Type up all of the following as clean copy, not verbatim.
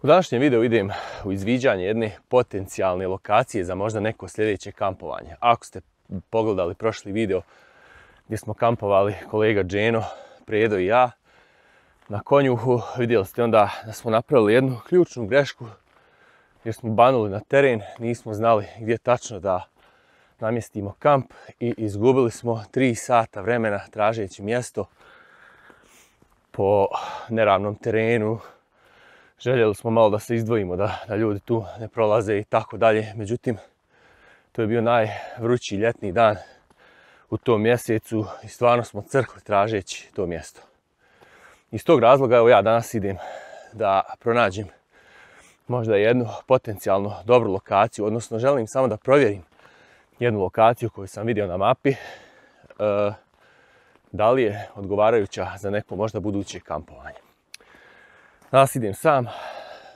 U današnjem videu idem u izviđanje jedne potencijalne lokacije za možda neko sljedeće kampovanje. Ako ste pogledali prošli video gdje smo kampovali kolega Dženo, Predo i ja na Konjuhu, vidjeli ste onda da smo napravili jednu ključnu grešku jer smo banuli na teren, nismo znali gdje tačno da namjestimo kamp i izgubili smo 3 sata vremena tražeći mjesto po neravnom terenu. Željeli smo malo da se izdvojimo, da ljudi tu ne prolaze i tako dalje. Međutim, to je bio najvrući ljetni dan u tom mjesecu i stvarno smo crkli tražeći to mjesto. Iz tog razloga evo ja danas idem da pronađem možda jednu potencijalno dobru lokaciju, odnosno želim samo da provjerim jednu lokaciju koju sam vidio na mapi, da li je odgovarajuća za neko možda buduće kampovanje. Danas idem sam,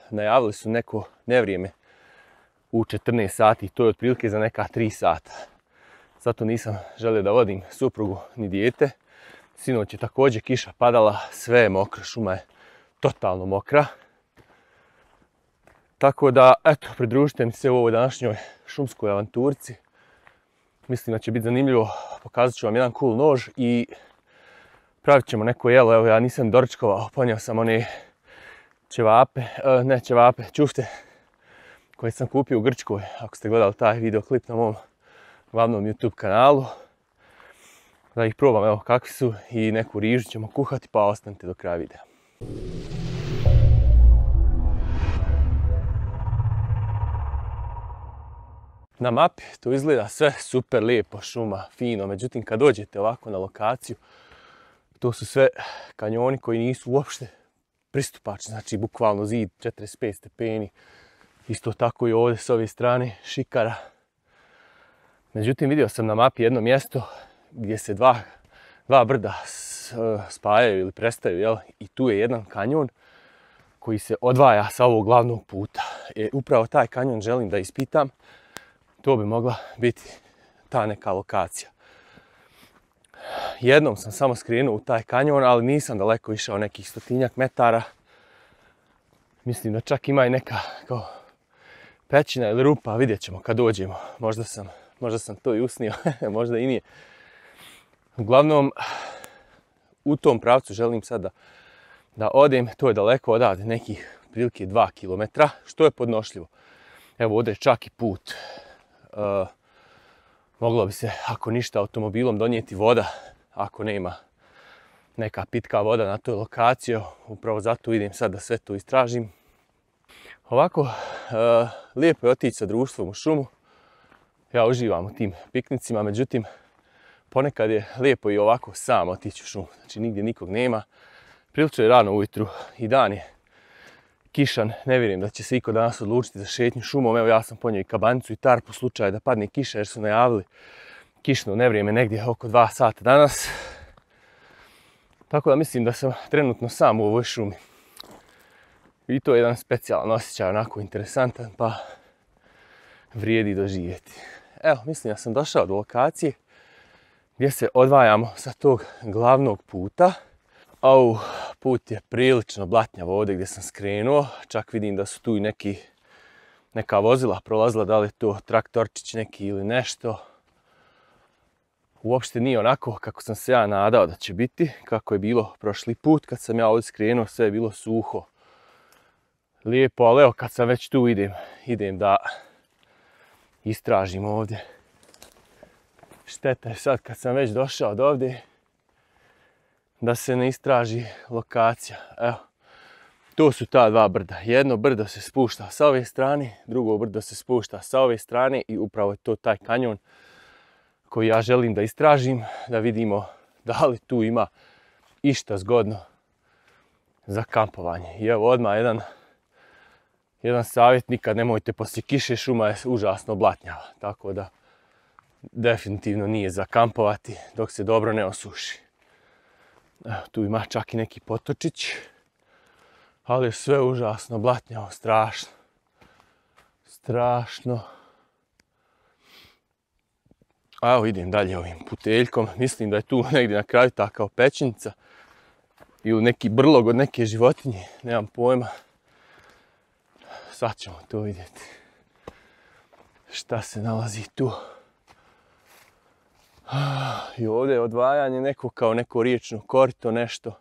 najavili su neko nevrijeme u 14 sati, to je otprilike za neka 3 sata. Zato nisam želio da vodim suprugu ni dijete. Sinoć je također kiša padala, sve je mokro, šuma je totalno mokra. Tako da, eto, pridružite mi se u ovoj današnjoj šumskoj avanturci. Mislim da će biti zanimljivo, pokazat ću vam jedan cool nož i pravit ćemo neko jelo. Evo, ja nisam doručkovao, ponio sam one ćufte koje sam kupio u Grčkoj, ako ste gledali taj videoklip na mom glavnom YouTube kanalu. Da ih probam, evo kakvi su, i neku rižu ćemo kuhati, pa ostanite do kraja videa. Na mapi to izgleda sve super lijepo, šuma, fino, međutim kad dođete ovako na lokaciju, to su sve kanjoni koji nisu uopšte pristupačni, znači bukvalno zid 45 stepeni, isto tako i ovdje s ove strane šikara. Međutim, vidio sam na mapi jedno mjesto gdje se dva brda spajaju ili prestaju, jel? I tu je jedan kanjon koji se odvaja sa ovog glavnog puta. Upravo taj kanjon želim da ispitam, to bi mogla biti ta neka lokacija. Jednom sam samo skrenuo u taj kanjon, ali nisam daleko išao, nekih 100-tinjak metara. Mislim da čak ima i neka kao pećina ili rupa, vidjet ćemo kad dođemo. Možda sam to i usnio, možda i nije. Uglavnom, u tom pravcu želim sad da odem, to je daleko odavde, nekih prilike 2 km, što je podnošljivo. Evo ovdje je čak i put. Moglo bi se, ako ništa, automobilom donijeti voda, ako nema neka pitka voda na toj lokaciji. Upravo zato idem sad da sve to istražim. Ovako, lijepo je otići sa društvom u šumu. Ja uživam u tim piknicima, međutim, ponekad je lijepo i ovako sam otići u šumu. Znači, nigdje nikog nema. Prilično je rano ujutru i dan je kišan. Ne vjerujem da će se iko danas odlučiti za šetnju šumom. Evo, ja sam ponio i kabanicu i tarpu u slučaju da padne kiša, jer su najavili kišno nevrijeme negdje oko 2 sata danas. Tako da mislim da sam trenutno sam u ovoj šumi. I to je jedan specijalan osjećaj, onako interesantan, pa vrijedi doživjeti. Evo, mislim da sam došao do lokacije gdje se odvajamo sa tog glavnog puta. Put je prilično blatnjav ovdje gdje sam skrenuo. Čak vidim da su tu i neka vozila prolazila, da li je to traktorčić neki ili nešto. Uopšte nije onako kako sam se ja nadao da će biti, kako je bilo prošli put kad sam ja ovdje skrenuo, sve je bilo suho. Lijepo, ali evo kad sam već tu idem da istražim ovdje. Šteta je sad kad sam već došao do ovdje da se ne istraži lokacija. Evo, to su ta dva brda. Jedno brdo se spušta sa ove strane, drugo brdo se spušta sa ove strane i upravo je to taj kanjon koji ja želim da istražim, da vidimo da li tu ima išta zgodno za kampovanje. I evo odmah jedan savjet, nikad nemojte poslije kiše, šuma je užasno blatnjava, tako da definitivno nije za kampovati dok se dobro ne osuši. Evo, tu ima čak i neki potočić, ali je sve užasno blatnjavo, strašno. Strašno. A evo idem dalje ovim puteljkom, mislim da je tu negdje na kraju ta kao pećinica ili neki brlog od neke životinje, nemam pojma. sad ćemo to vidjeti. Šta se nalazi tu? I ovdje je odvajanje neko kao neko riječno korito, nešto.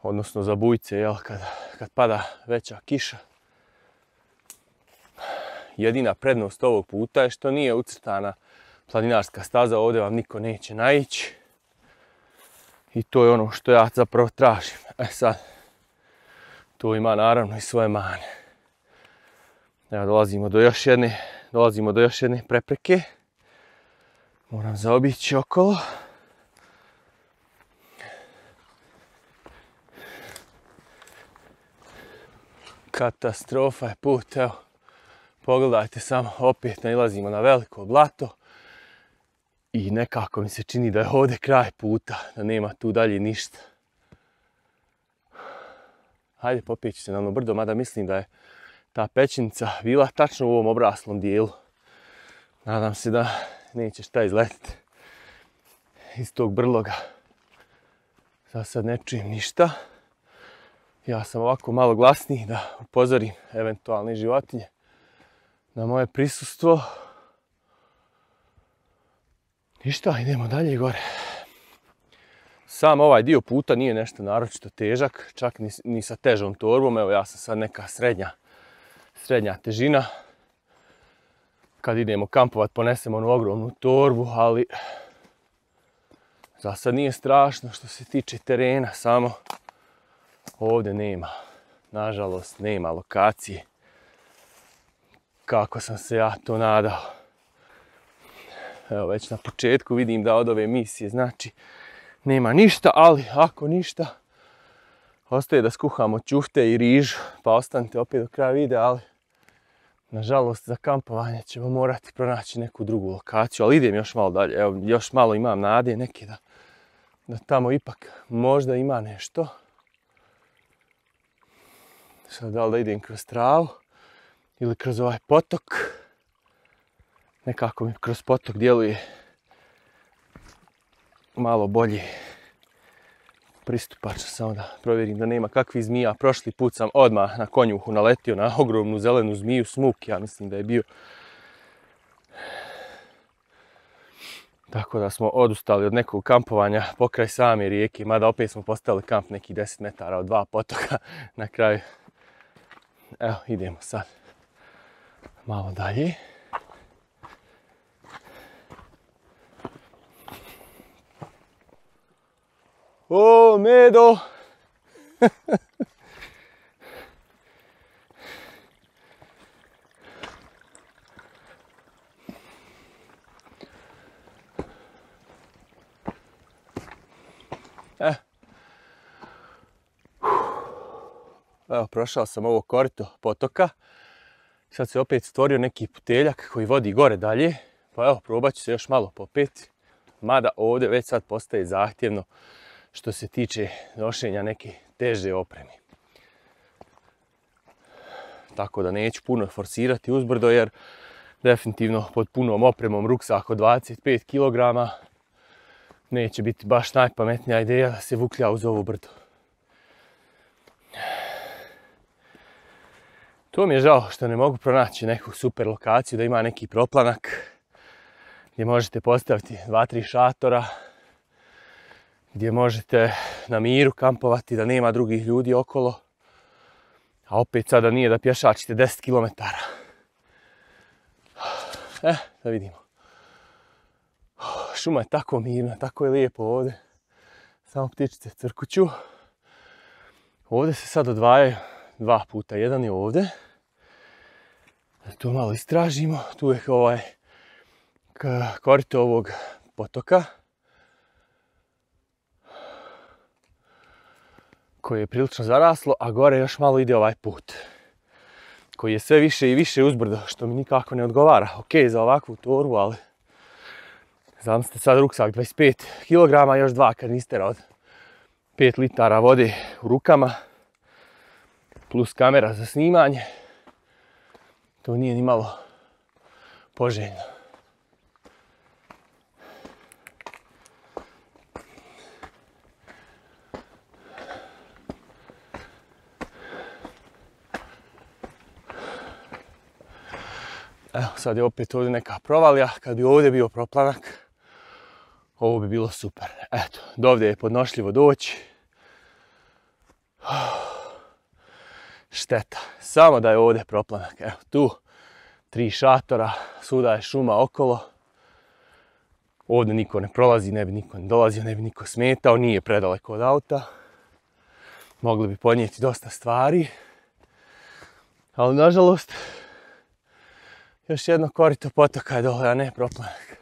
Odnosno za bujce, jel, kad pada veća kiša. Jedina prednost ovog puta je što nije ucrtana planinarska staza, ovdje vam niko neće naići. I to je ono što ja zapravo tražim. Sad, to ima naravno i svoje mane. Evo, dolazimo do još jedne prepreke. Moram zaobići okolo. Katastrofa je put, evo. Pogledajte samo, opet nailazimo na veliko blato. I nekako mi se čini da je ovdje kraj puta, da nema tu dalje ništa. Hajde, popet ću se na ono brdo, mada mislim da je ta pećinica bila tačno u ovom obraslom dijelu. Nadam se da neće šta izletiti iz tog brloga. Za sad ne čujem ništa. Ja sam ovako malo glasniji da upozorim eventualne životinje na moje prisustvo. Ništa, idemo dalje gore. Sam ovaj dio puta nije nešto naročito težak, čak ni sa težom torbom. Evo, ja sam sad neka srednja težina. Kad idemo kampovat ponesemo onu ogromnu torbu, ali za sad nije strašno što se tiče terena, samo ovdje nema, nažalost, nema lokacije kako sam se ja to nadao. Evo, već na početku vidim da od ove misije znači nema ništa, ali ako ništa, ostaje da skuhamo ćufte i rižu, pa ostanite opet do kraja videa, ali nažalost za kampovanje ćemo morati pronaći neku drugu lokaciju, ali idem još malo dalje. Evo, još malo imam nade neke da tamo ipak možda ima nešto. Sad da li da idem kroz travu ili kroz ovaj potok. Nekako mi kroz potok djeluje malo bolje pristupačno, samo da provjerim da nema kakvih zmija. Prošli put sam odmah na konjuhu naletio na ogromnu zelenu zmiju, smuk, ja mislim da je bio. Tako da smo odustali od nekog kampovanja pokraj same rijeke, mada opet smo postavili kamp nekih 10 metara od dva potoka na kraju. Evo, idemo sad malo dalje. O, Medo! Evo, prošao sam ovo korito potoka. Sad se opet stvorio neki puteljak koji vodi gore dalje. Pa evo, probat ću se još malo popeti. Mada ovdje već sad postaje zahtjevno što se tiče nošenja neke teže opreme. Tako da neću puno forsirati uzbrdo jer definitivno pod punom opremom ruksak od 25 kg neće biti baš najpametnija ideja da se vuklja uz ovu brdo. To mi je žao što ne mogu pronaći neku super lokaciju, da ima neki proplanak gdje možete postaviti 2-3 šatora, gdje možete na miru kampovati, da nema drugih ljudi okolo. A opet sada nije da pješačite 10 km. Da vidimo. Šuma je tako mirna, tako je lijepo ovdje. Samo ptičice crkuću. Ovdje se sad odvajaju 2 puta. Jedan je ovdje. To malo istražimo. Tu je ovaj korito ovog potoka, koje je prilično zaraslo, a gore još malo ide ovaj put, koji je sve više i više uzbrdo, što mi nikako ne odgovara. Ok, za ovakvu torbu, ali zamislite sad ruksak 25 kg, još 2 kanistera od 5 litara vode u rukama, plus kamera za snimanje. To nije ni malo poželjno. Evo, sad je opet ovdje neka provalija. Kad bi ovdje bio proplanak, ovo bi bilo super. Eto, do ovdje je podnošljivo doći. Šteta. Samo da je ovdje proplanak. Evo, tu 3 šatora, svuda je šuma okolo. Ovdje niko ne prolazi, ne bi niko ne dolazio, ne bi niko smetao. Nije predaleko od auta. Mogli bi podnijeti dosta stvari. Ali, nažalost, još jedno korito potoka je dole, a ne proplanak.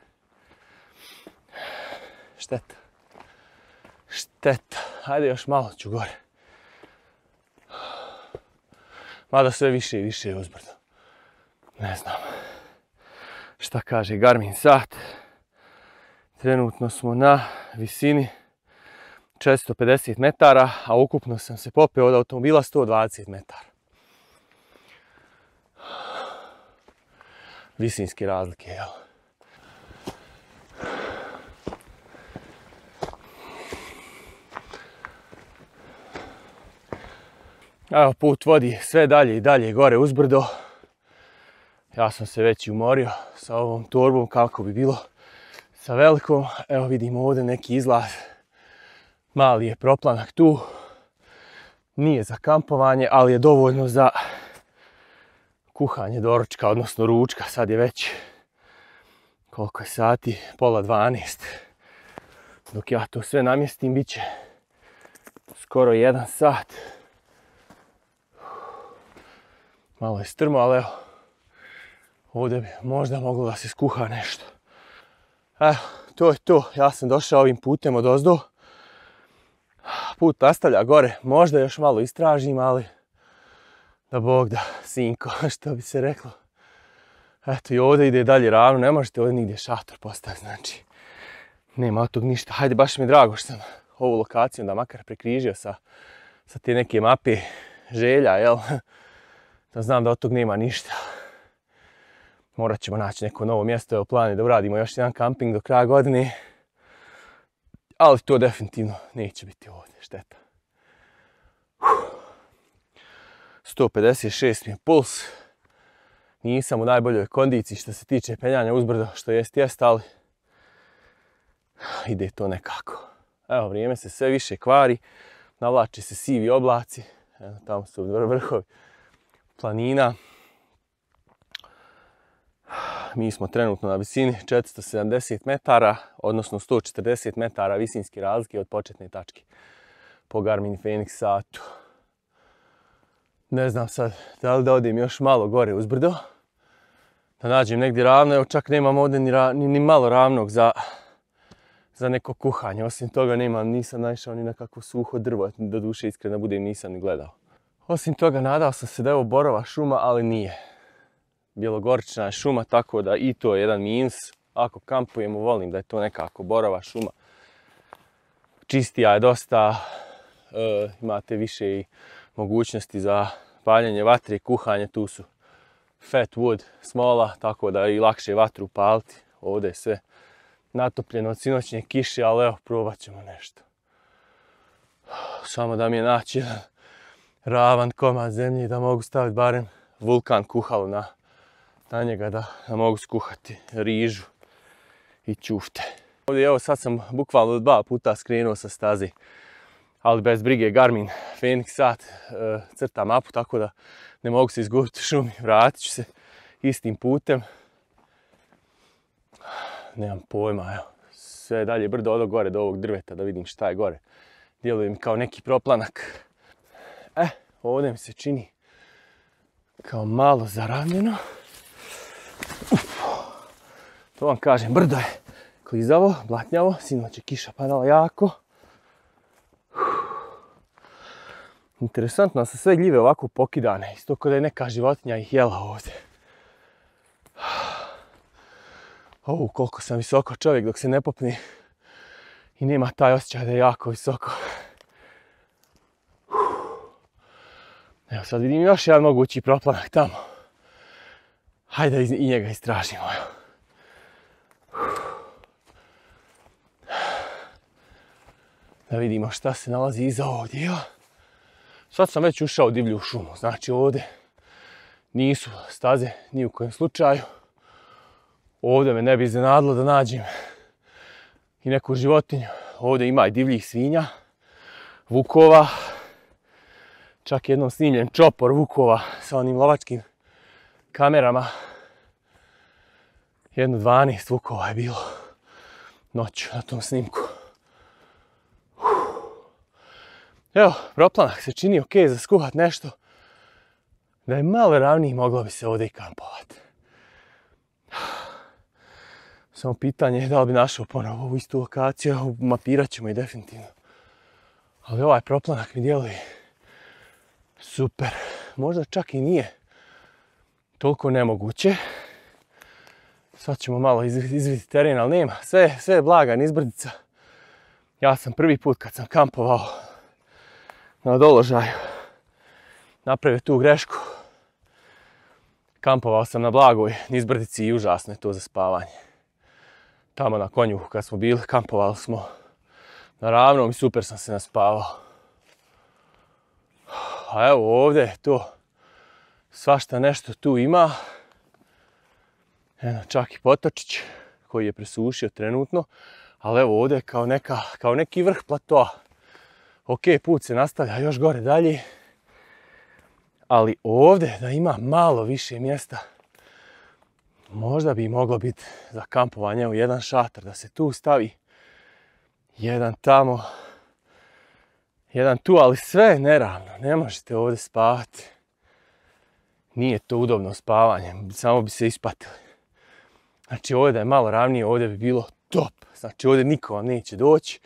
Šteta. Šteta. Hajde još malo ću gore. Mada sve više i više je uzbrdo. Ne znam. Šta kaže Garmin sat. Trenutno smo na visini 450 metara, a ukupno sam se popeo od automobila 120 metara. Visinske razlike, jel? Evo, put vodi sve dalje i dalje gore uzbrdo. Ja sam se već umorio sa ovom torbom kako bi bilo sa velikom. Evo vidimo ovdje neki izlaz. Mali je proplanak tu. Nije za kampovanje, ali je dovoljno za kuhanje doručka, odnosno ručka. Sad je već, koliko je sati, 11:30. Dok ja to sve namjestim, bit će skoro 1 sat. Malo je strmo, ali evo, ovdje bi možda moglo da se skuha nešto. Evo, to je to. Ja sam došao ovim putem odozdo. Put nastavlja gore. Možda još malo istražim, ali da Bog da, sinko, što bi se reklo. Eto, i ovdje ide dalje ravno. Ne možete ovdje nigdje šator postaviti, znači. Nema od tog ništa. Hajde, baš mi je drago što sam ovu lokaciju da makar prekrižio sa te neke mape želja, jel? Da znam da od tog nema ništa. Morat ćemo naći neko novo mjesto. Evo, plan je da uradimo još jedan kamping do kraja godine. Ali to definitivno neće biti ovdje. Šteta. 156 mi je puls. Nisam u najboljoj kondiciji što se tiče penjanja uzbrdo, što jest, ali ide to nekako. Evo, vrijeme se sve više kvari. Navlače se sivi oblaci. Evo, tamo su vrhovi planina. Mi smo trenutno na visini 470 metara, odnosno 140 metara visinske razlike od početne tačke po Garmin Fenix satu. Ne znam sad da li da odem još malo gore uzbrdo, da nađem negdje ravno. Evo, čak nemam ovdje ni malo ravnog za neko kuhanje. Osim toga nisam naišao ni na kakvo suho drvo, do duše iskreno budem nisam ni gledao. Osim toga nadao sam se da je ovo borova šuma, ali nije. Bjelogorična je šuma, tako da i to je jedan minus. Ako kampujemo, volim da je to nekako borova šuma. Čistija je dosta, imate više i mogućnosti za paljenje vatre i kuhanje. Tu su fat wood, smola, tako da je i lakše vatru paliti. Ovdje je sve natopljeno od sinoćnje kiše, ali evo, probat ćemo nešto. Samo da mi je naći jedan ravan komad zemlje da mogu staviti barem vulkan kuhalo na njega da mogu skuhati rižu i ćufte. Ovdje evo sad sam bukvalno 2 puta skrenuo sa staze, ali bez brige Garmin Fenix sat crta mapu, tako da ne mogu se izgubiti u šumi. Vratit ću se istim putem. Nemam pojma, evo. Sve dalje brdo od gore do ovog drveta da vidim šta je gore. Djeluje mi kao neki proplanak. Ovdje mi se čini kao malo zaravnjeno. To vam kažem, brdo je klizavo, blatnjavo, sinoć je kiša padala jako. Interesantno da su sve gljive ovako pokidane, isto kao da je neka životinja ih jela ovdje. Koliko sam visoko čovjek dok se ne popne i nema taj osjećaj da je jako visoko. Evo sad vidim još jedan mogući proplanak tamo. Hajde da i njega istražimo. Da vidimo šta se nalazi iza ovog dijela. Sad sam već ušao u divlju šumu, znači ovdje nisu staze ni u kojem slučaju. Ovdje me ne bi iznenadilo da nađem i neku životinju. Ovdje ima i divljih svinja, vukova. Čak jednom snimljen čopor vukova sa onim lovačkim kamerama. Jedno 12 vukova je bilo noću na tom snimku. Evo, proplanak se čini ok za skuhat nešto. Da je malo ravniji, moglo bi se ovdje i kampovati. Samo pitanje je da li bi našao ponovo ovu istu lokaciju, mapirat ćemo i definitivno. Ali ovaj proplanak mi djeluje super. Možda čak i nije toliko nemoguće. Sad ćemo malo izviditi teren, ali nema. Sve je blaga, nizbrdica. Ja sam prvi put kad sam kampovao na doložaju napravio tu grešku. Kampovao sam na blagoj nizbrdici i užasno je to za spavanje. Tamo na Konjuhu kad smo bili, kampovali smo na ravnom i super sam se naspavao. A evo ovdje to svašta nešto tu ima. Eno, čak i potočić koji je presušio trenutno. Ali evo ovdje je kao neki vrh platoa. Ok, put se nastavlja još gore dalje. Ali ovdje da ima malo više mjesta, možda bi moglo biti za kampovanje u jedan šator, da se tu stavi. Jedan tamo, jedan tu, ali sve je neravno. Ne možete ovdje spavati. Nije to udobno spavanje, samo bi se ispatili. Znači ovdje da je malo ravnije, ovdje bi bilo top. Znači ovdje niko vam neće doći.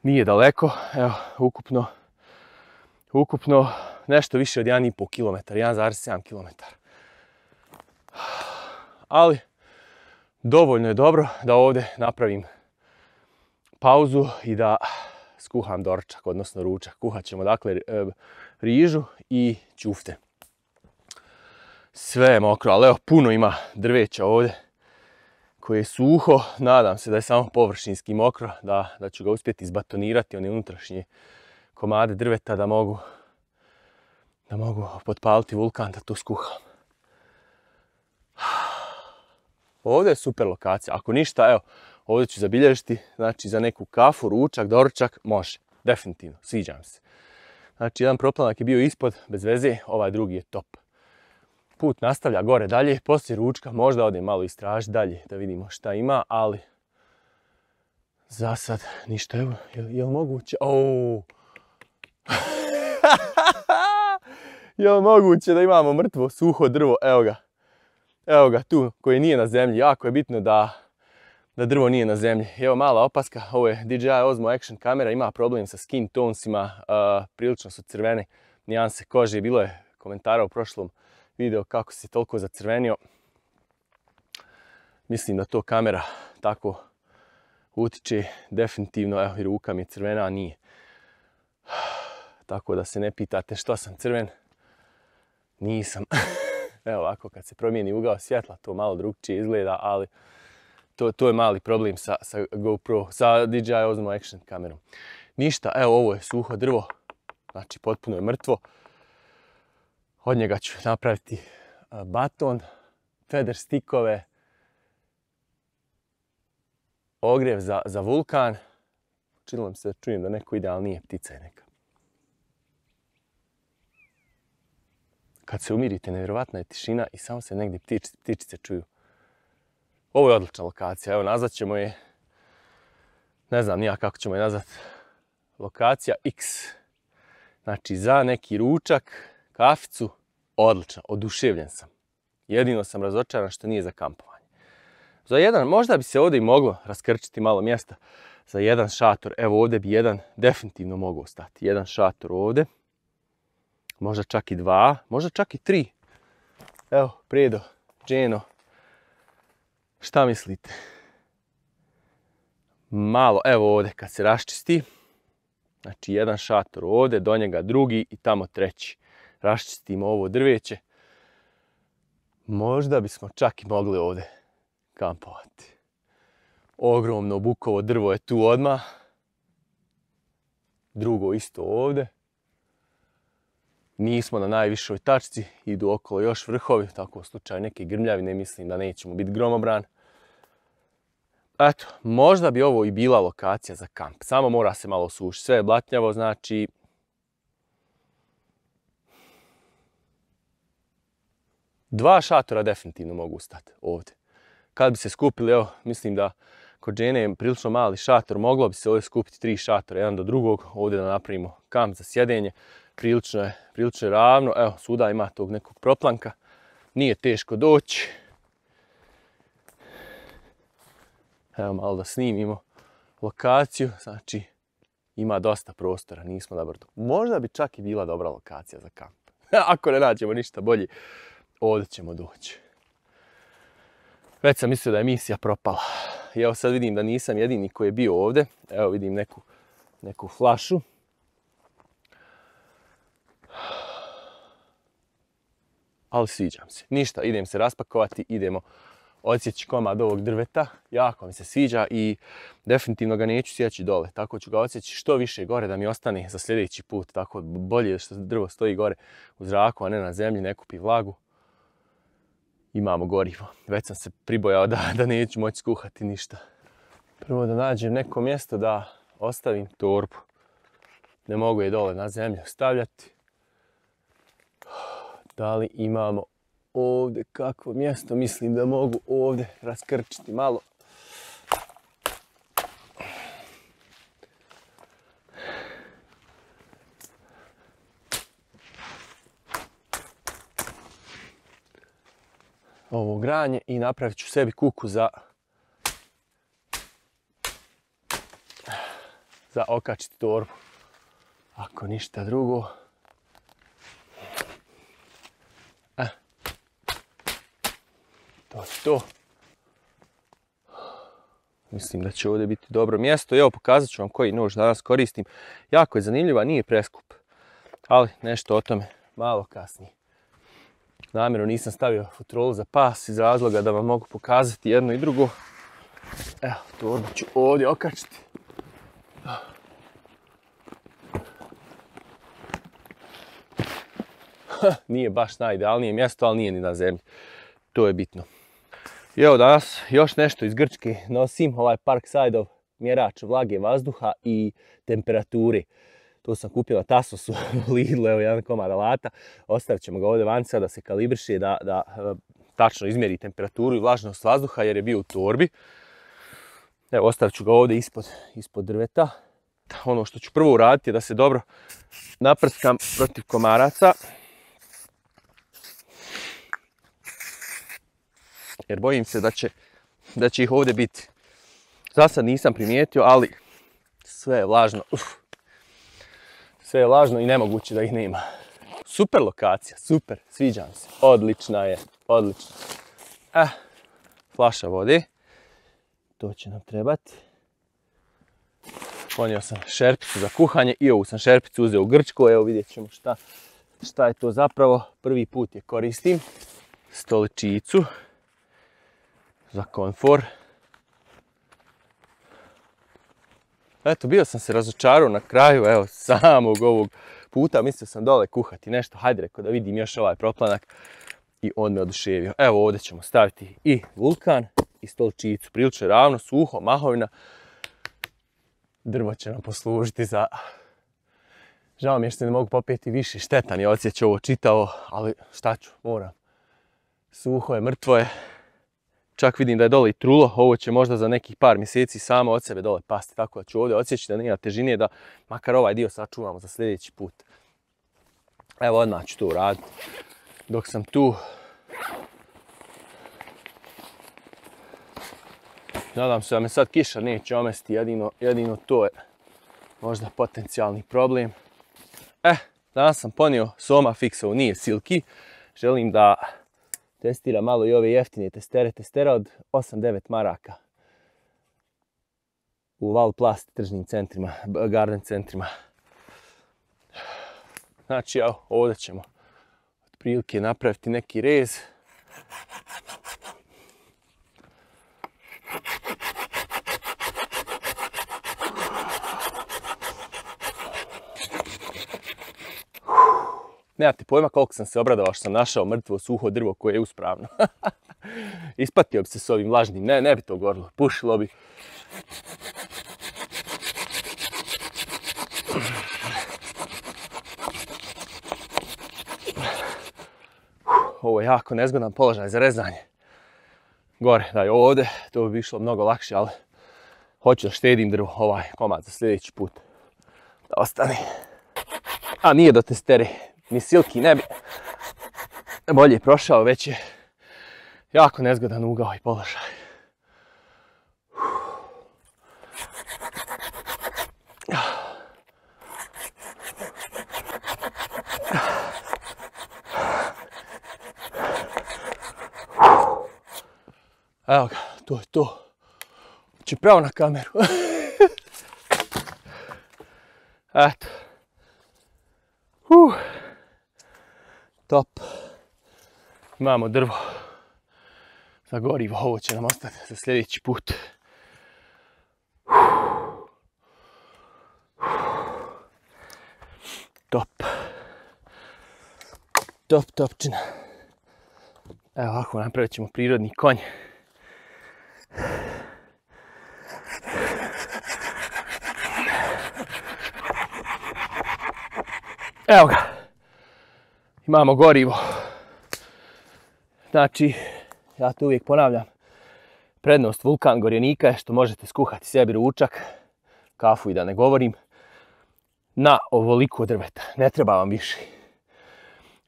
Nije daleko, evo, ukupno nešto više od 1,5 km, 1,7 km. Ali dovoljno je dobro da ovdje napravim pauzu i da skuham doručak, odnosno ručak. Kuhat ćemo dakle rižu i ćufte. Sve je mokro, ali evo puno ima drveća ovdje koje je suho. Nadam se da je samo površinski mokro, da ću ga uspjeti izbatonirati, one unutrašnje komade drveta da mogu potpaliti vulkan da to skuham. Ovdje je super lokacija. Ako ništa, evo, ovdje ću zabilježiti, znači za neku kafu, ručak, doručak, može. Definitivno, sviđam se. Znači, jedan proplanak je bio ispod, bez veze, ovaj drugi je top. Put nastavlja gore dalje, poslije ručka možda odem malo istražiti dalje da vidimo šta ima, ali za sad ništa. Evo, je li moguće? Je li moguće da imamo mrtvo suho drvo? Evo ga tu, koji nije na zemlji. Jako je bitno da drvo nije na zemlji. Evo mala opaska, ovo je DJI Osmo Action kamera, ima problem sa skin tonesima, prilično su crvene nijanse kože. Bilo je komentara u prošlom videu kako se toliko zacrvenio. Mislim da to kamera tako utiče definitivno. Evo i ruka mi je crvena, a nije. Tako da se ne pitate što sam crven. Nisam. Evo ovako kad se promijeni ugao svjetla to malo drugčije izgleda, ali to je mali problem sa GoPro, sa DJI Osmo Action kamerom. Ništa, evo ovo je suho drvo, znači potpuno je mrtvo. Od njega ću napraviti baton, feather stickove, ogrjev za vulkan. Činilo mi se da čujem da neko ide, ali nije, ptica je neka. Kad se umirite, nevjerovatna je tišina i samo se negdje ptičice čuju. Ovo je odlična lokacija, evo nazvat ćemo je, ne znam nija kako ćemo je nazvat, lokacija X. Znači za neki ručak, kaficu, odlično, oduševljen sam. Jedino sam razočaran što nije za kampovanje. Za jedan, možda bi se ovdje i moglo raskrčiti malo mjesta za jedan šator. Evo ovdje bi jedan definitivno mogao stati. Jedan šator ovdje. Možda čak i 2, možda čak i 3. Evo, Predo, Dženo. Šta mislite? Malo, evo ovdje kad se raščisti. Znači jedan šator ovdje, do njega drugi i tamo treći. Raščistimo ovo drveće. Možda bismo čak i mogli ovdje kampovati. Ogromno bukovo drvo je tu odmah. Drugo isto ovdje. Nismo na najvišoj tačci, idu okolo još vrhovi, tako u slučaju neke grmljavine mislim da nećemo biti gromobran. eto, možda bi ovo i bila lokacija za kamp. Samo mora se malo sušiti. Sve je blatnjavo, znači... Dva šatora definitivno mogu stati ovdje. Kad bi se skupili, evo, mislim da kod žene je prilično mali šator, moglo bi se ovdje skupiti 3 šatora, jedan do drugog, ovdje da napravimo kamp za sjedenje. Prilično je ravno, evo, svuda ima tog nekog proplanka, nije teško doći. Evo malo da snimimo lokaciju, znači ima dosta prostora, nismo na brdu. Možda bi čak i bila dobra lokacija za kamp. Ako ne nađemo ništa bolje, ovdje ćemo doći. Već sam mislio da je misija propala. I evo sad vidim da nisam jedini koji je bio ovdje. Evo vidim neku flašu. Ali sviđam se. Ništa, idem se raspakovati, idemo odsjeći komad ovog drveta. Jako mi se sviđa i definitivno ga neću sjeći dole. Tako ću ga odsjeći što više gore da mi ostane za sljedeći put. Tako bolje što drvo stoji gore u zraku, a ne na zemlji, ne kupi vlagu. Imamo gorivo. Već sam se pribojao da neću moći skuhati ništa. Prvo da nađem neko mjesto da ostavim torbu. Ne mogu je dole na zemlju stavljati. Da li imamo ovdje kakvo mjesto? Mislim da mogu ovdje raskrčiti malo. Ovo granje i napravit ću sebi kuku za okačiti torbu. Ako ništa drugo. To je to. Mislim da će ovdje biti dobro mjesto. Evo pokazat ću vam koji nož danas koristim. Jako je zanimljiva, nije preskup. Ali nešto o tome malo kasnije. Namjerno nisam stavio futrolu za pas iz razloga da vam mogu pokazati jedno i drugo. Evo, torbu ću ovdje okačiti. Nije baš najidealnije mjesto, ali nije ni na zemlji. To je bitno. I evo danas još nešto iz Grčke nosim, ovaj Parksideov mjerač vlage vazduha i temperature. To sam kupio na Tasosu u Lidlu, evo jedan komad alata. Ostavit ćemo ga ovdje vanca da se kalibriše, da tačno izmjeri temperaturu i vlažnost vazduha jer je bio u torbi. Evo, ostavit ću ga ovdje ispod drveta. Ono što ću prvo uraditi je da se dobro naprskam protiv komaraca. Jer bojim se da će ih ovdje biti. Za sad nisam primijetio, ali sve je vlažno. Sve je vlažno i nemoguće da ih nema. Super lokacija, super, sviđam se. Odlična je, odlična. Flaša vode. To će nam trebati. Ponio sam šerpicu za kuhanje i ovu sam šerpicu uzeo u Grčku. Evo vidjet ćemo šta je to zapravo. Prvi put je koristim. Stoličicu za komfor. Eto, bio sam se razočarao na kraju, evo, samog ovog puta. Mislio sam dole kuhati nešto. Hajde, rekao da vidim još ovaj proplanak. I on me oduševio. Evo, ovdje ćemo staviti i vulkan i stoličicu. Prilično ravno, suho, mahovina. Drvo će nam poslužiti za... Žao mi je što ne mogu popeti više. Štetan je odsjeć ovo čitavo, ali šta ću, moram. Suho je, mrtvo je. Čak vidim da je dole i trulo, ovo će možda za nekih par mjeseci samo od sebe dole pasti, tako da ću ovdje odsjeći da nema težine, da makar ovaj dio sačuvamo za sljedeći put. Evo, odmah ću to uraditi. Dok sam tu, nadam se da me sad kiša neće omesti, jedino to je možda potencijalni problem. Danas sam ponio Soma Fixovu, nije Silky. Želim da testira malo i ove jeftine testere. Testera od 8-9 maraka. U Valplast tržnim centrima, garden centrima. Znači, evo, ovdje ćemo otprilike napraviti neki rez. Nemate pojma koliko sam se obradovao što sam našao mrtvo suho drvo koje je uspravno. Ispatio bi se s ovim vlažnim, ne bi to gorilo, pušilo bi. Ovo je jako nezgodan položaj za rezanje. Gore, daj ovdje, to bi išlo mnogo lakše, ali hoću da štedim drvo, ovaj komad za sljedeći put. Da ostane. A nije do testere, ni silki ne bi bolje prošao, već je jako nezgodan ugao i položaj. Evo ga, to je to. Či pravo na kameru. Eto. Top. Imamo drvo za gorivo, ovo će nam ostati za sljedeći put. Top. Top, topčina. Evo ovako napravit ćemo prirodni konj. Evo ga. Imamo gorivo. Znači, ja to uvijek ponavljam, prednost Vulkan Gorjenika je što možete skuhati sebi ručak, kafu i da ne govorim, na ovoliko drveta. Ne treba vam više.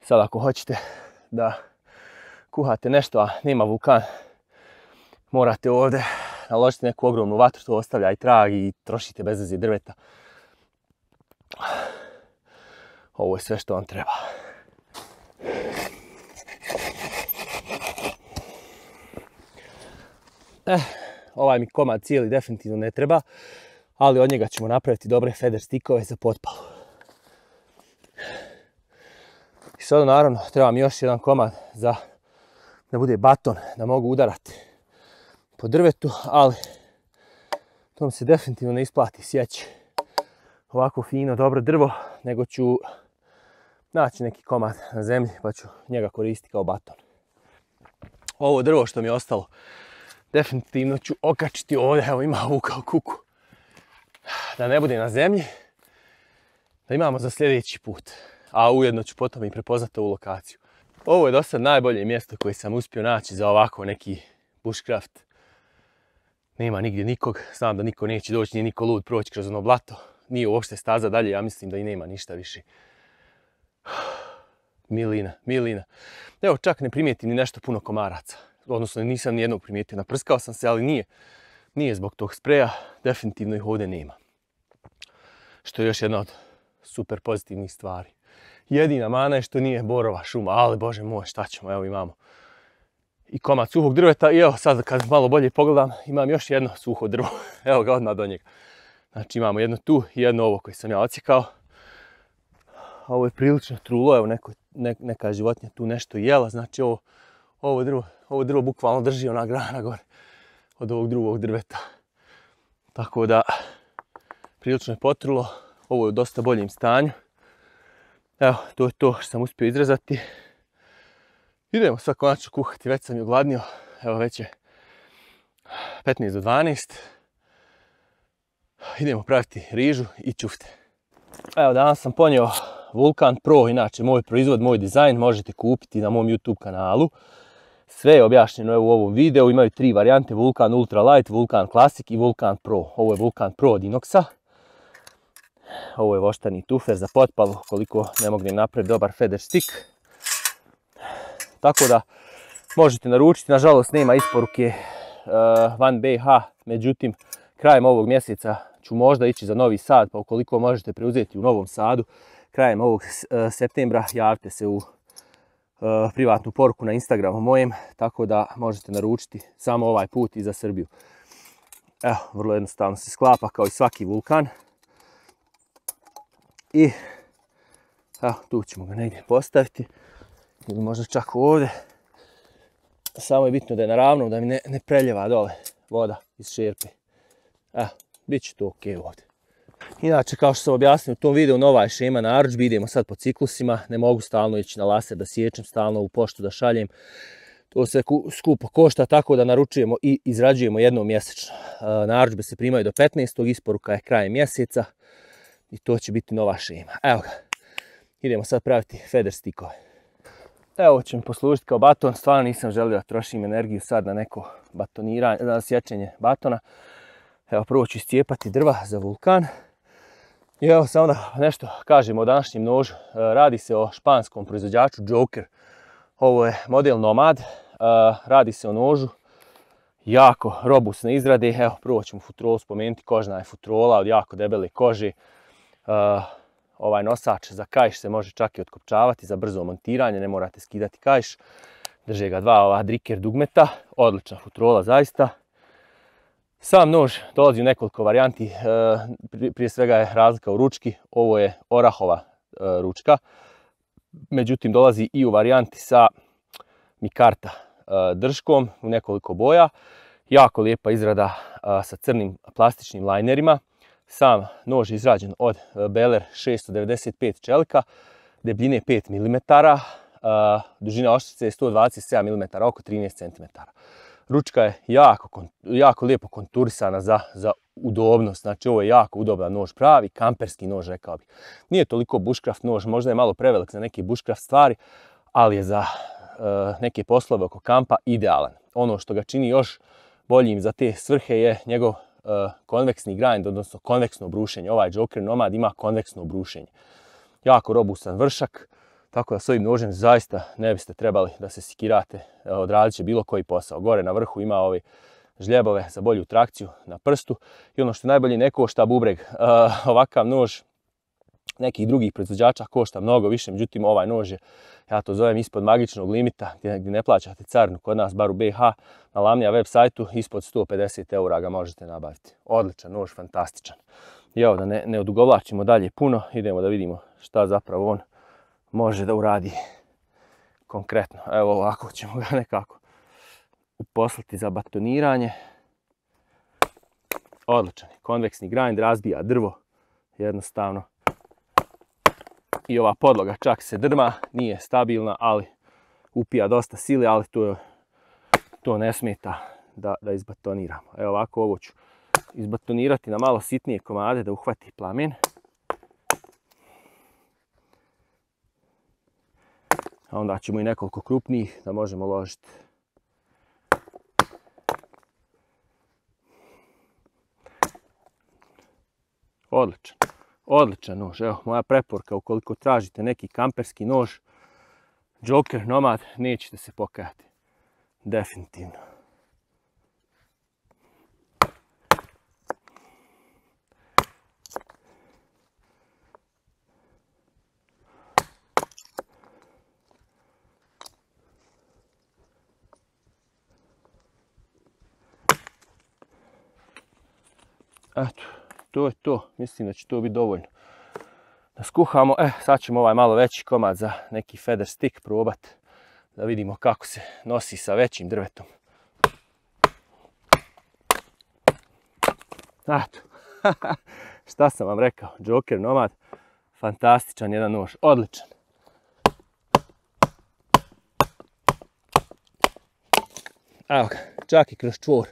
Sad ako hoćete da kuhate nešto, a nema Vulkan, morate ovdje naložiti neku ogromnu vatru, to ostavlja i trag i trošite bez veze drveta. Ovo je sve što vam treba. Ovaj mi komad cijeli definitivno ne treba, ali od njega ćemo napraviti dobre feather stickove za potpalu. I sada naravno treba mi još jedan komad za da bude baton, da mogu udarati po drvetu, ali to mi se definitivno ne isplati sjeći ovako fino, dobro drvo, nego ću naći neki komad na zemlji pa ću njega koristiti kao baton. Ovo drvo što mi je ostalo definitivno ću okačiti ovdje, evo ima ovu kao kuku, da ne bude na zemlji, da imamo za sljedeći put, a ujedno ću potom i prepoznati ovu lokaciju. Ovo je do sad najbolje mjesto koje sam uspio naći za ovako neki bushcraft. Nema nigdje nikog, znam da niko neće doći, nije niko lud proći kroz ono blato, nije uopšte staza dalje, ja mislim da i nema ništa više. Milina. Evo čak ne primijetim ni nešto puno komaraca. Odnosno nisam nijednog primijetio, naprskao sam se, ali nije zbog tog spreja, definitivno ih ovdje nema. Što je još jedna od super pozitivnih stvari. Jedina mana je što nije borova šuma, ali bože moj, šta ćemo, evo imamo i komad suhog drveta i evo sad kad malo bolje pogledam imam još jedno suho drvo, evo ga odmah do njega. Znači imamo jedno tu i jedno ovo koje sam ja odsjekao. Ovo je prilično trulo, evo neka životinja tu nešto jela, znači ovo drvo bukvalno drži ona grana gore od ovog drugog drveta. Tako da, prilično je potrulo, ovo je u dosta boljem stanju. Evo, to je to što sam uspio izrezati. Idemo sad konačno kuhati, već sam je ogladnio. Evo, već je 15 do 12. Idemo praviti rižu i ćufte. Evo, danas sam ponio Vulkan Pro, inače moj proizvod, moj dizajn, možete kupiti na mom YouTube kanalu. Sve je objašnjeno u ovom videu, imaju 3 varijante, Vulkan Ultra Light, Vulkan Classic i Vulkan Pro. Ovo je Vulkan Pro od Inoxa. Ovo je voštani tufer za potpalu, koliko ne mognem napraviti dobar feather stick. Tako da možete naručiti, nažalost nema isporuke van BiH, međutim krajem ovog mjeseca ću možda ići za Novi Sad, pa ukoliko možete preuzeti u Novom Sadu, krajem ovog septembra javite se u privatnu poruku na Instagramu mojem, tako da možete naručiti samo ovaj put i za Srbiju. Evo, vrlo jednostavno se sklapa kao i svaki Vulkan. I evo, tu ćemo ga negdje postaviti ili možda čak ovdje. Samo je bitno da je naravno, da mi ne preljeva dole voda iz šerpe. Evo, bit će to ok ovdje. Inače, kao što sam objasnio u tom videu, nova je šema narudžbi, idemo sad po ciklusima, ne mogu stalno ići na laser da sječem, stalno u poštu da šaljem. To sve skupo košta, tako da naručujemo i izrađujemo jednom mjesečno. Narudžbe se primaju do 15. isporuka je krajem mjeseca i to će biti nova šema. Evo ga, idemo sad praviti feather stickove. Evo će mi poslužiti kao baton, stvarno nisam želio da trošim energiju sad na neko batoniranje, na sječenje batona. Evo, prvo ću iscijepati drva za vulkan. I evo samo da nešto kažemo o današnjem nožu. Radi se o španskom proizvođaču Joker. Ovo je model Nomad. Radi se o nožu jako robustne izrade. Evo, prvo ćemo futrolu spomenuti. Kožna je futrola od jako debele kože. Ovaj nosač za kaiš se može čak i otkopčavati za brzo montiranje. Ne morate skidati kaiš. Drže ga dva ova driker dugmeta. Odlična futrola zaista. Sam nož dolazi u nekoliko varijanti, prije svega je razlika u ručki, ovo je orahova ručka, međutim dolazi i u varijanti sa mikarta držkom u nekoliko boja, jako lijepa izrada sa crnim plastičnim linerima. Sam nož je izrađen od Beller 695 čelika, debljine 5 mm, dužina oštrice je 127 mm, oko 13 cm. Ručka je jako lijepo konturisana za udobnost, znači ovo je jako udoban nož, pravi kamperski nož rekao bih. Nije toliko bushcraft nož, možda je malo prevelik za neke bushcraft stvari, ali je za neke poslove oko kampa idealan. Ono što ga čini još boljim za te svrhe je njegov konveksni grind, odnosno konveksno brušenje. Ovaj Joker Nomad ima konveksno brušenje. Jako robustan vršak. Tako da s ovim nožem zaista ne biste trebali da se sikirate, odradit će bilo koji posao. Gore na vrhu ima ove žljebove za bolju trakciju na prstu i ono što najbolje ne košta bubreg. Ovakav nož nekih drugih proizvođača košta mnogo više, međutim ovaj nož je, ja to zovem ispod magičnog limita gdje ne plaćate carinu kod nas, bar u BiH, na Lamnija web sajtu ispod 150 eura ga možete nabaviti. Odličan nož, fantastičan. I evo da ne odugovlačimo dalje puno, idemo da vidimo šta zapravo on može da uradi konkretno. Evo ovako ćemo ga nekako uposlati za batoniranje. Odličan je, konveksni grind, razbija drvo jednostavno. I ova podloga čak se drma, nije stabilna, ali upija dosta sile, ali to ne smeta da izbatoniramo. Evo ovako ovo ću izbatonirati na malo sitnije komade da uhvati plamen. A onda ćemo i nekoliko krupnijih da možemo ložiti. Odličan. Odličan nož. Evo, moja preporuka, ukoliko tražite neki kamperski nož, Joker Nomad, nećete se pokajati. Definitivno. Eto, to je to. Mislim da će to biti dovoljno da skuhamo. Sad ćemo ovaj malo veći komad za neki feather stick probati. Da vidimo kako se nosi sa većim drvetom. Eto, šta sam vam rekao, Joker Nomad, fantastičan jedan nož, odličan. Evo ga, čak i kroz čvor.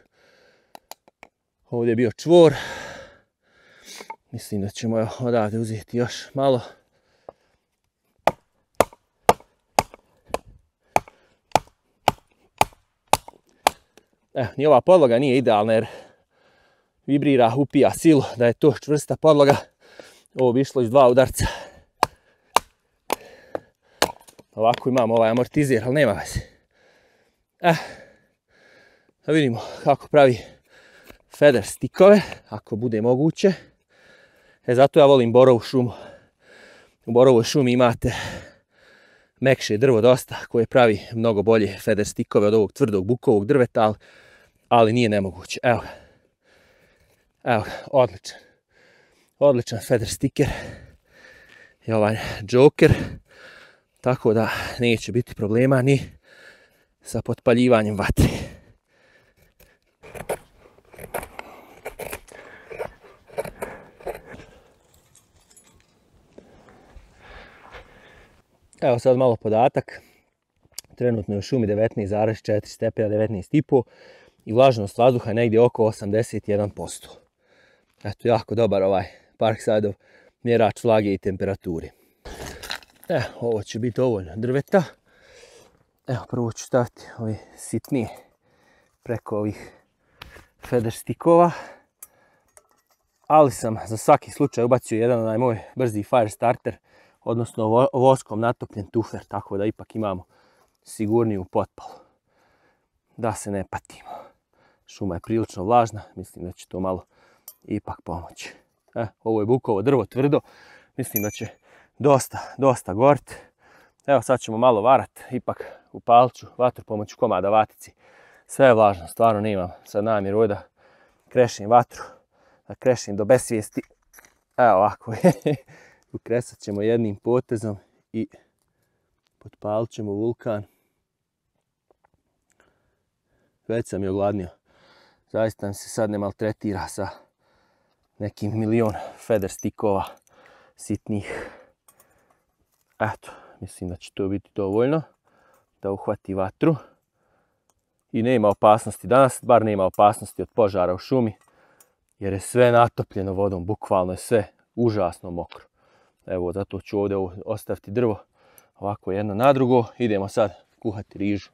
Ovdje je bio čvor. Mislim da ćemo odavde uzeti još malo. Ni ova podloga nije idealna jer vibrira, upija silu. Da je to čvrsta podloga, ovo bi išlo iz 2 udarca. Ovako imamo ovaj amortizer, ali nema veze. Da vidimo kako pravi feather stickove, ako bude moguće. Zato ja volim borovu šumu. U borovoj šumi imate mekše drvo dosta koje pravi mnogo bolje feather stickove od ovog tvrdog bukovog drveta, ali nije nemoguće. Evo ga, odličan. Odličan feather sticker je ovaj Joker, tako da neće biti problema ni sa potpaljivanjem vatre. Evo sad malo podatak. Trenutno je u šumi 19,4 stepena, 19,5 i vlažnost vazduha je negdje oko 81%. Eto, jako dobar ovaj Parksideov mjerač vlage i temperature. Ovo će biti dovoljno drveta. Evo, prvo ću staviti ovi sitnije preko ovih feather stickova. Ali sam za svaki slučaj ubacio jedan onaj moj brzi fire starter, odnosno voskom natopljen tufer, tako da ipak imamo sigurniju potpalu. Da se ne patimo. Šuma je prilično vlažna, mislim da će to malo ipak pomoći. Ovo je bukovo drvo tvrdo, mislim da će dosta goriti. Evo sad ćemo malo varat, ipak upalit ću vatru pomoću komada vatici. Sve je vlažno, stvarno nemam sad namjeru da krešim vatru, da krešim do besvijesti. Evo ovako, ukresat ćemo jednim potezom i potpalit ćemo vulkan. Već sam je ogladnio. Zaista mi se sad ne maltretira sa nekim milion feather stickova sitnih. Eto, mislim da će to biti dovoljno da uhvati vatru. I nema opasnosti danas, bar nema opasnosti od požara u šumi, jer je sve natopljeno vodom, bukvalno je sve užasno mokro. Evo, zato ću ovdje ostaviti drvo ovako jedno na drugo. Idemo sad kuhati rižu.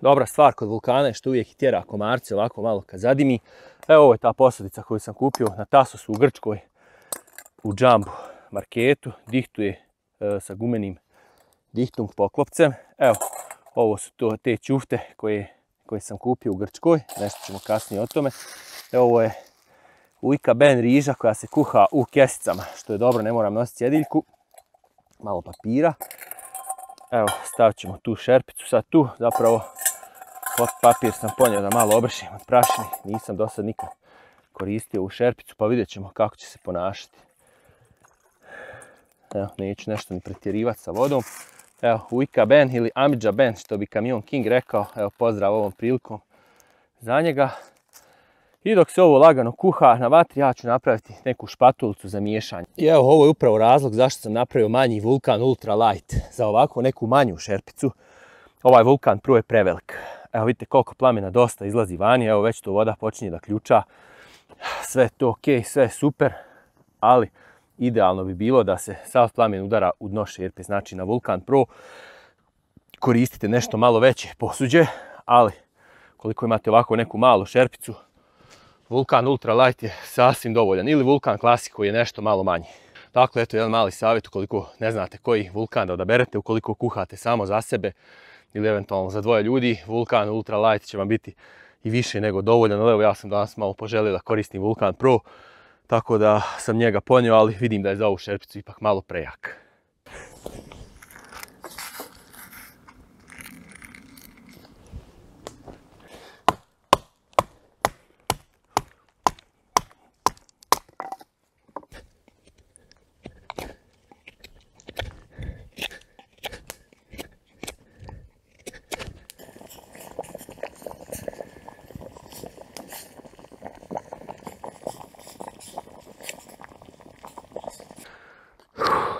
Dobra stvar kod vulkana je što uvijek tjera komarce ovako malo kad zadimi. Evo, ovo je ta posadica koju sam kupio na Tasosu u Grčkoj, u Jumbo marketu. Dihtuje sa gumenim dihtung poklopcem. Evo, ovo su te ćufte koje sam kupio u Grčkoj. Nešto ćemo kasnije o tome. Evo, ovo je ujka ben riža koja se kuha u kesicama, što je dobro, ne moram nositi sjedeljku. Malo papira. Evo, stavit ćemo tu šerpicu sad tu. Zapravo, papir sam ponio da malo obršim od prašine. Nisam do sad nikad koristio ovu šerpicu, pa vidjet ćemo kako će se ponašati. Evo, neću nešto ni pretjerivati sa vodom. Evo, ujka ben ili Amidža ben, što bi Kamion King rekao. Evo, pozdrav ovom prilikom za njega. I dok se ovo lagano kuha na vatri, ja ću napraviti neku špatulicu za miješanje. I evo, ovo je upravo razlog zašto sam napravio manji vulkan Ultra Light. Za ovako neku manju šerpicu. Ovaj vulkan prvo je prevelik. Evo, vidite koliko plamena dosta izlazi vani. Evo, već to voda počinje da ključa. Sve je to ok, sve je super. Ali idealno bi bilo da se sav plamen udara u dno šerpe. Znači, na Vulkan Pro koristite nešto malo veće posuđe. Ali, koliko imate ovako neku malu šerpicu, Vulkan Ultra Light je sasvim dovoljan. Ili Vulkan Classic koji je nešto malo manji. Dakle, eto jedan mali savjet ukoliko ne znate koji vulkan da odaberete, ukoliko kuhate samo za sebe ili eventualno za dvoje ljudi, Vulkan Ultra Light će vam biti i više nego dovoljan. Evo, ja sam danas malo poželio da koristim Vulkan Pro, tako da sam njega ponio, ali vidim da je za ovu šerpicu ipak malo prejak.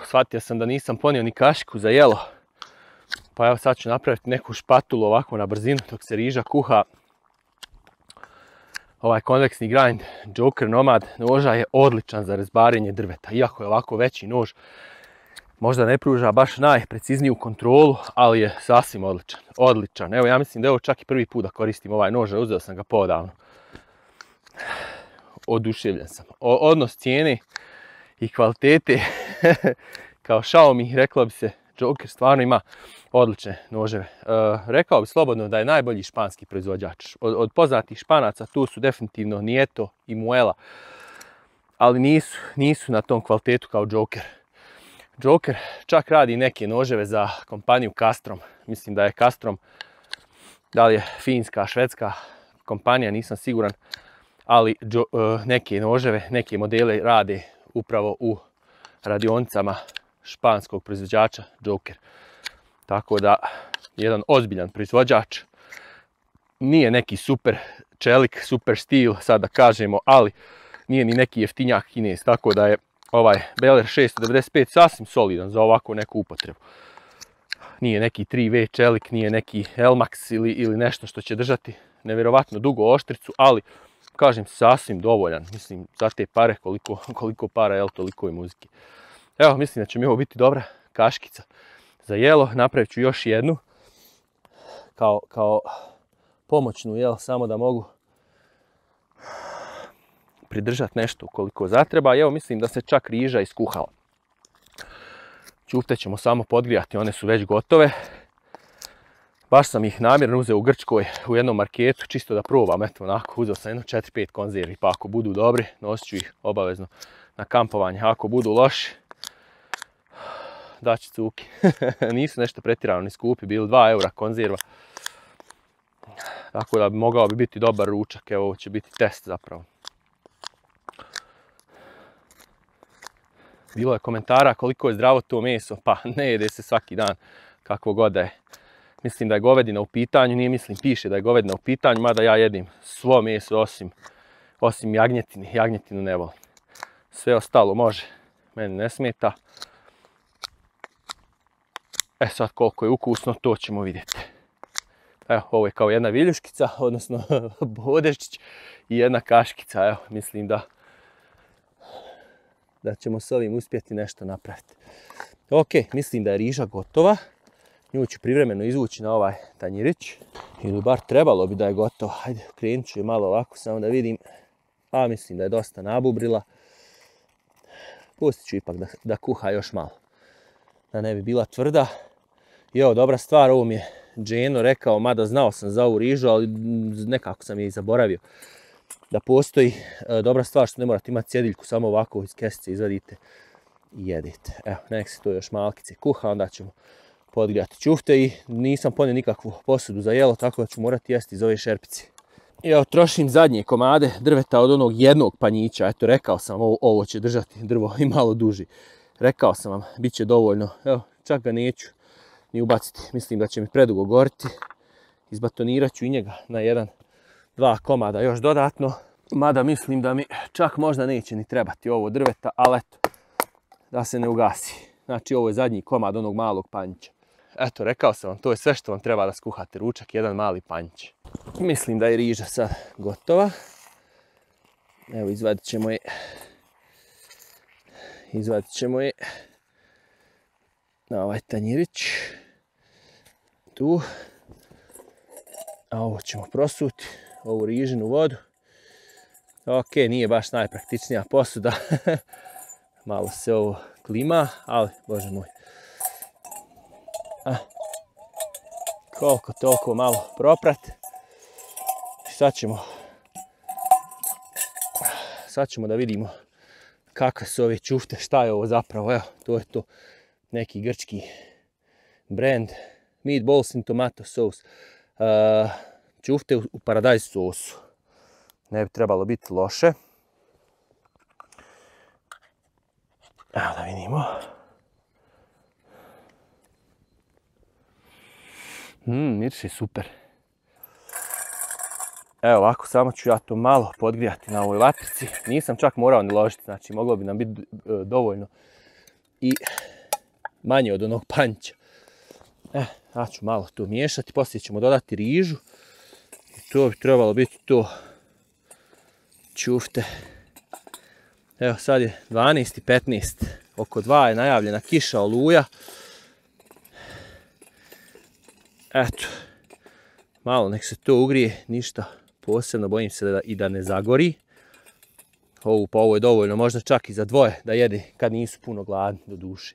Shvatio sam da nisam ponio ni kašiku za jelo, pa evo sad ću napraviti neku špatulu ovako na brzinu dok se riža kuha. Ovaj konveksni grind Joker Nomad noža je odličan za rezbarenje drveta. Iako je ovako veći nož, možda ne pruža baš najprecizniju kontrolu, ali je sasvim odličan. Evo, ja mislim da je ovo čak i prvi put da koristim ovaj nož, uzeo sam ga podavno. Oduševljen sam. Odnos cijene i kvalitete kao Xiaomi, reklo bi se, Joker stvarno ima odlične noževe. Rekao bi slobodno da je najbolji španski proizvođač. Od poznatih Španaca tu su definitivno Nieto i Muela, ali nisu na tom kvalitetu kao Joker. Joker čak radi neke noževe za kompaniju Castrom. Mislim da je Castrom, da li je finska, švedska kompanija, nisam siguran, ali neke noževe, neke modele rade upravo u radionicama španskog proizvođača Joker. Tako da, jedan ozbiljan proizvođač. Nije neki super čelik, super stil, sad da kažemo, ali nije ni neki jeftinjak Kinez. Tako da je ovaj Beller 695 sasvim solidan za ovakvu neku upotrebu. Nije neki 3V čelik, nije neki Elmax ili nešto što će držati nevjerovatno dugo oštricu, ali kažem sasvim dovoljan. Mislim, za te pare, koliko para, jel, toliko i muzike. Evo, mislim da će mi ovo biti dobra kaškica za jelo. Napravit ću još jednu kao pomoćnu, jel, samo da mogu pridržati nešto koliko zatreba. Evo, mislim da se čak riža iskuhala. Ćufte ćemo samo podgrijati, one su već gotove. Baš sam ih namjerno uzeo u Grčkoj u jednom marketu, čisto da probam, eto onako, uzeo sam jedno 4-5 konzervi, pa ako budu dobri, nosit ću ih obavezno na kampovanje. Ako budu loši, daću cuki. Nisu nešto pretjerano ni skupi, bili 2 eura konzerva. Tako da mogao bi biti dobar ručak, evo ovo će biti test zapravo. Bilo je komentara koliko je zdravo to meso, pa ne jede se svaki dan kakvo god da je. Mislim da je govedina u pitanju, nije mislim, piše da je govedina u pitanju, mada ja jedim svo meso osim jagnjetine, jagnjetinu ne volim. Sve ostalo može, meni ne smeta. E sad koliko je ukusno, to ćemo vidjeti. Evo, ovo je kao jedna viljuškica, odnosno bodeščić i jedna kaškica, evo, mislim da ćemo s ovim uspjeti nešto napraviti. Ok, mislim da je riža gotova. Nju ću privremeno izvući na ovaj tanjirić. Ili bar trebalo bi da je gotovo. Hajde, krenut ću je malo ovako, samo da vidim. A mislim da je dosta nabubrila. Pustit ću ipak da kuha još malo. Da ne bi bila tvrda. I evo, dobra stvar, ovo mi je Dženo rekao, mada znao sam za ovu rižu, ali nekako sam je i zaboravio. Da postoji dobra stvar što ne morate imati cjediljku, samo ovako iz kesice izvadite i jedete. Evo, nek se to još malkice kuha, onda ćemo podgrijati ćufte i nisam ponio nikakvu posudu za jelo, tako da ću morati jesti iz ove šerpice. I evo, trošim zadnje komade drveta od onog jednog panjića. Eto, rekao sam, ovo će držati drvo i malo duži. Rekao sam vam, bit će dovoljno. Evo, čak ga neću ni ubaciti. Mislim da će mi predugo goriti. Izbatonirat ću i njega na 1-2 komada još dodatno. Mada mislim da mi čak možda neće ni trebati ovo drveta, ali eto, da se ne ugasi. Znači, ovo je zadnji komad onog malog panjića. Eto, rekao sam vam, to je sve što vam treba da skuhate ručak, jedan mali panjić. Mislim da je riža sad gotova. Evo, izvadit ćemo je na ovaj tanjirić. Tu. A ovo ćemo prosuti, ovu rižinu vodu. Ok, nije baš najpraktičnija posuda. Malo se ovo klima, ali, bože moj. Koliko toliko malo proprat. Sad ćemo da vidimo kakve su ove ćufte, šta je ovo zapravo. Evo, to je to, neki grčki brand. Meatballs in tomato sauce. Ćufte u paradajz sosu. Ne bi trebalo biti loše. Evo da vidimo. Miriši super. Evo ovako, samo ću ja to malo podgrijati na ovoj vatrici. Nisam čak morao ni ložiti, znači moglo bi nam biti dovoljno i manje od onog panjića. Ja ću malo to miješati, poslije ćemo dodati rižu. I to bi trebalo biti to. Ćufte. Evo sad je 12:15. Oko 2 je najavljena kiša, oluja. Eto. Malo nek se to ugrije, ništa posebno, bojim se da ne zagori. Ovo je dovoljno, možda čak i za dvoje da jede kad nisu puno gladni, do duše.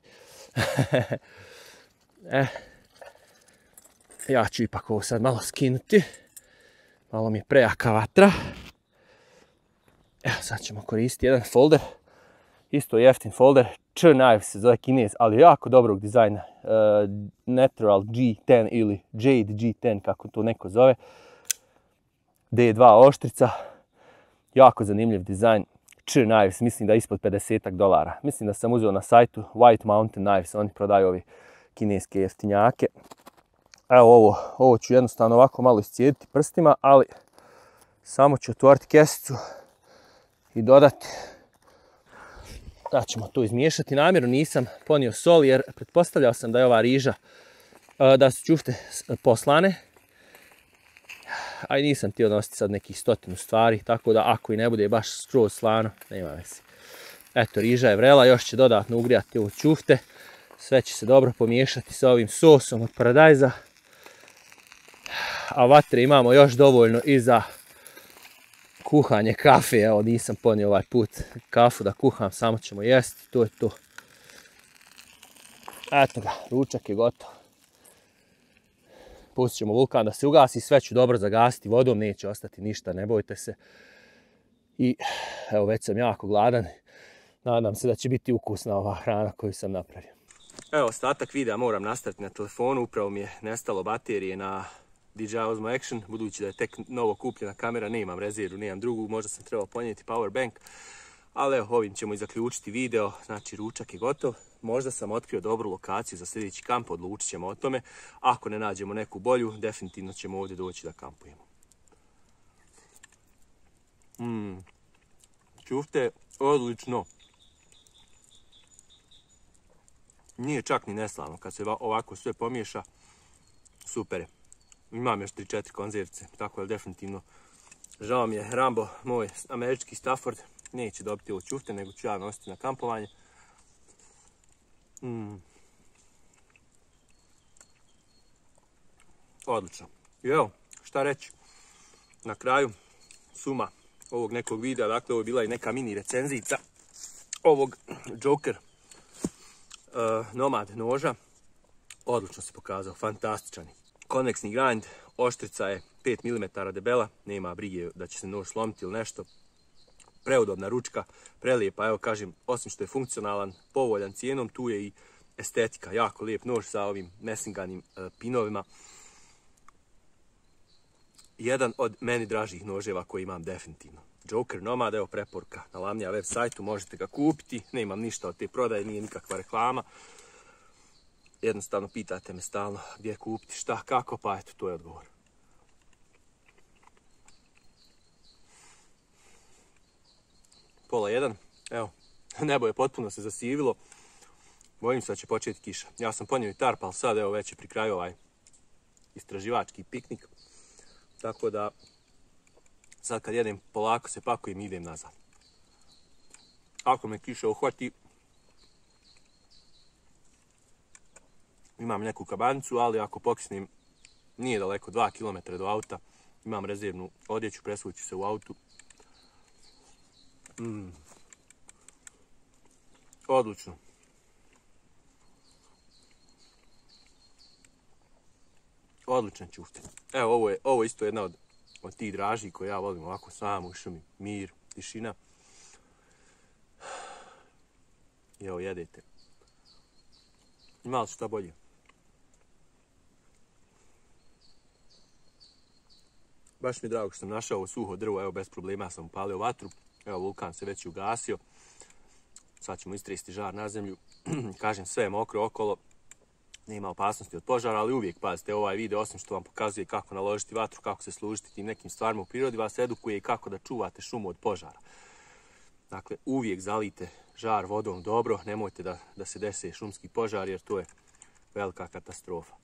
Ja ću ipak ovo sad malo skinuti. Malo mi je prejaka vatra. Evo, sad ćemo koristiti jedan folder. Isto jeftin folder. Knives se zove kinez, ali jako dobrog dizajna. Natural G10 ili Jade G10, kako to neko zove. D2 oštrica. Jako zanimljiv dizajn. Knives, mislim da je ispod $50. Mislim da sam uzeo na sajtu White Mountain Knives. Oni prodaju ovi kineske jeftinjake. Evo ovo ću jednostavno ovako malo iscijediti prstima, ali samo ću otvoriti kesicu i dodati. Da ćemo to izmiješati. Namjerno nisam ponio sol jer pretpostavljao sam da je ova riža da su ćufte poslane. A i nisam htio nositi sad nekih 100 stvari, tako da ako i ne bude baš skroz slano, nema veze. Eto, riža je vrela, još će dodatno ugrijati ovo ćufte. Sve će se dobro pomiješati sa ovim sosom od paradajza. A vatre imamo još dovoljno i za kuhanje kafe. Evo, nisam ponio ovaj put kafu da kuham, samo ćemo jesti, to je to. Eto ga, ručak je gotov. Pustit ćemo vulkan da se ugasi, sve ću dobro zagasiti vodom, neće ostati ništa, ne bojte se. I evo, već sam jako gladan, nadam se da će biti ukusna ova hrana koju sam napravio. Evo, ostatak videa moram nastaviti na telefonu, upravo mi je nestalo baterije na DJI Osmo Action, budući da je tek novo kupljena kamera, nemam rezervu, nemam drugu, možda sam trebao ponijeti power bank, ali evo, ovim ćemo i zaključiti video, znači ručak je gotov. Možda sam otkrio dobru lokaciju za sljedeći kamp, odlučit ćemo o tome. Ako ne nađemo neku bolju, definitivno ćemo ovdje doći da kampujemo. Ćufte, odlično. Nije čak ni neslano, kad se ovako sve pomiješa, super je. Imam još 3-4 konzervice, tako je definitivno. Žao mi je, Rambo, moj američki Stafford, neće dobiti ovo ćufte, nego ću ja nositi na kampovanje. Odlično. I evo, šta reći, na kraju suma ovog nekog videa, dakle ovo je bila i neka mini recenzijica ovog Joker Nomad noža. Odlično se pokazao, fantastičan. Konveksni grind, oštrica je 5 mm debela, nema brige da će se nož slomiti ili nešto. Preudobna ručka, prelijepa, evo kažem, osim što je funkcionalan, povoljan cijenom, tu je i estetika, jako lijep nož sa ovim mesinganim pinovima. Jedan od meni dražih noževa koji imam definitivno. Joker Nomad, evo preporuka na Lamnija web sajtu, možete ga kupiti, nemam ništa od te prodaje, nije nikakva reklama. Jednostavno pitate me stalno gdje kupiti, šta, kako, pa eto, to je odgovor. Pola 1, evo, nebo je potpuno se zasivilo, bojim se da će početi kiša. Ja sam ponio i tarp, ali sad evo već je pri kraju ovaj istraživački piknik, tako da sad kad jedem polako se pakujem i idem nazad. Ako me kiša uhvati, imam neku kabanicu, ali ako pokisnem, nije daleko, 2 km do auta, imam rezervnu odjeću, presvuću se u autu. Odlično. Odličan ćufte. Evo, ovo je isto jedna od tih draži koje ja volim ovako sam u šumi. Mir, tišina. I evo, jedete. Ima li šta bolje? Baš mi je drago što sam našao ovo suho drvo, evo bez problema sam upalio vatru. Evo, vulkan se već ugasio. Sad ćemo istresti žar na zemlju. Kažem, sve je mokro okolo. Nema opasnosti od požara, ali uvijek pazite ovaj video, osim što vam pokazuje kako naložiti vatru, kako se služiti tim nekim stvarima u prirodi, vas edukuje i kako da čuvate šumu od požara. Dakle, uvijek zalijte žar vodom dobro, nemojte da se dese šumski požar, jer to je velika katastrofa.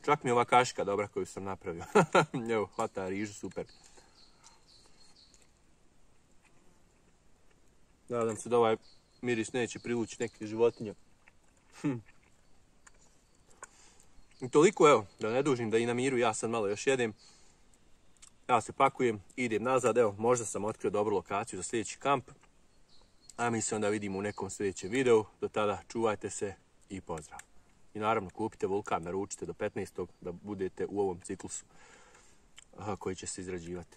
Čak mi je ova kašika dobra koju sam napravio. Evo, hvata rižu, super. Nadam se da ovaj miris neće privući neke životinje. I toliko, evo, da ne dužim, da i na miru, ja sad malo još jedem. Ja se pakujem, idem nazad, evo, možda sam otkrio dobru lokaciju za sljedeći kamp. A mi se onda vidimo u nekom sljedećem videu. Do tada čuvajte se i pozdrav. I naravno kupite vulkan, naručite do 15. da budete u ovom ciklusu koji će se izrađivati.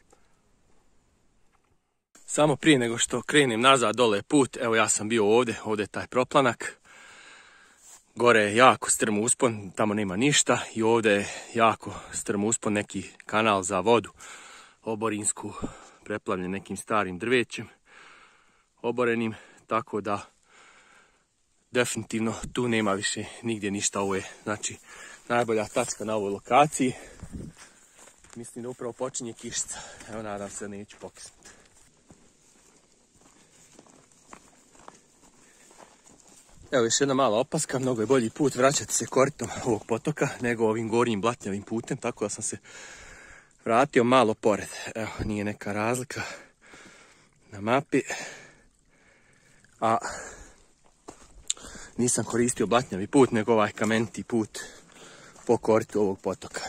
Samo prije nego što krenem nazad dole put, evo ja sam bio ovdje je taj proplanak. Gore je jako strm uspon, tamo nema ništa i ovdje je jako strm uspon, neki kanal za vodu oborinsku, preplavljen nekim starim drvećem oborenim, tako da definitivno tu nema više nigdje ništa. Ovo je znači najbolja tačka na ovoj lokaciji. Mislim da upravo počinje kišica, evo nadam se da neću pokisnuti. Evo još jedna mala opaska, mnogo je bolji put vraćati se koritom ovog potoka nego ovim gornjim blatnjavim putem, tako da sam se vratio malo pored. Evo, nije neka razlika na mapi, a nisam koristio blatnjavi put nego ovaj kameniti put po koritu ovog potoka.